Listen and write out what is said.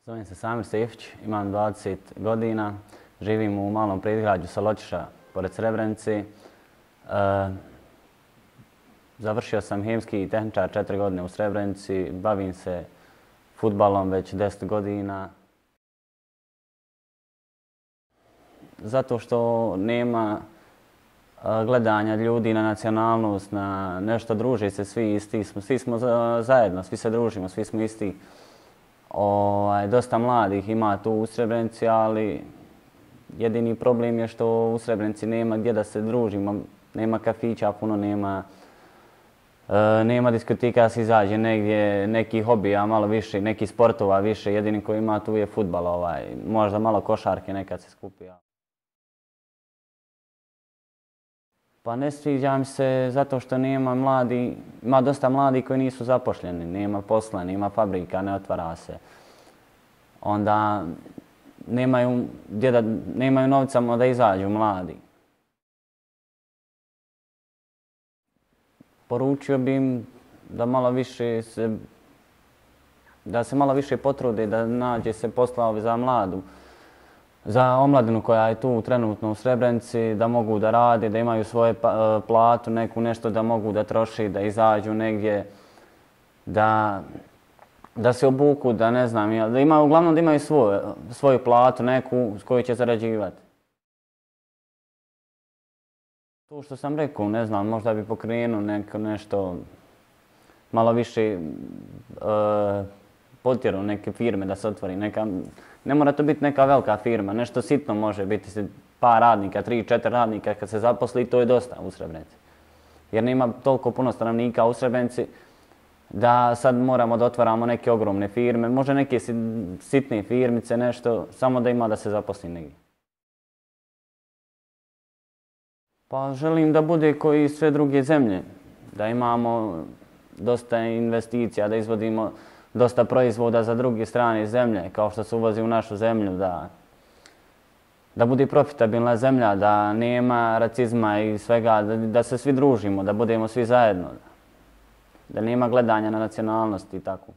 Zovem se Samir Sefić, imam 20 godina, živim u malom predgrađu Saločiša pored Srebrenice. Završio sam hemijski tehničar 4 godine u Srebrenici, bavim se fudbalom već 10 godina. Zato što nema gledanja ljudi na nacionalnost, na nešto, druži se svi isti, svi smo zajedno, svi se družimo, svi smo isti. Dosta mladih ima tu u Srebrenici, ali jedini problem je što u Srebrenici nema gdje da se družimo, nema kafića, puno nema diskoteka da se izađe negdje, neki hobija malo više, neki sportova više, jedini koji ima tu je fudbal, možda malo košarke nekad se skupi. Pa ne sviđa mi se zato što ima dosta mladih koji nisu zaposleni, nema posla, nema fabrika, ne otvara se. Onda nemaju novca da izađu mladi. Poručio bi im da se malo više potrude, da nađe se posla za mladu, za omladinu koja je tu trenutno u Srebrenici, da mogu da rade, da imaju svoju platu, nešto da mogu da troši, da izađu negdje, da se obuku, da ne znam, uglavnom da imaju svoju platu neku s koju će zarađivati. To što sam rekao, ne znam, možda bi pokrenuo nešto malo više potjerao neke firme da se otvori. Ne mora to biti neka velika firma, nešto sitno može biti par radnika, 3-4 radnika kad se zaposli, to je dosta u Srebrenici. Jer nema toliko puno stanovnika u Srebrenici da sad moramo da otvaramo neke ogromne firme, može neke sitne firmice, nešto, samo da ima da se zaposli negdje. Pa želim da bude kao i sve druge zemlje, da imamo dosta investicija, da izvodimo dosta proizvoda za druge strane zemlje, kao što se uvozi u našu zemlju, da bude profitabilna zemlja, da nema racizma i svega, da se svi družimo, da budemo svi zajedno, da nema gledanja na nacionalnost i tako.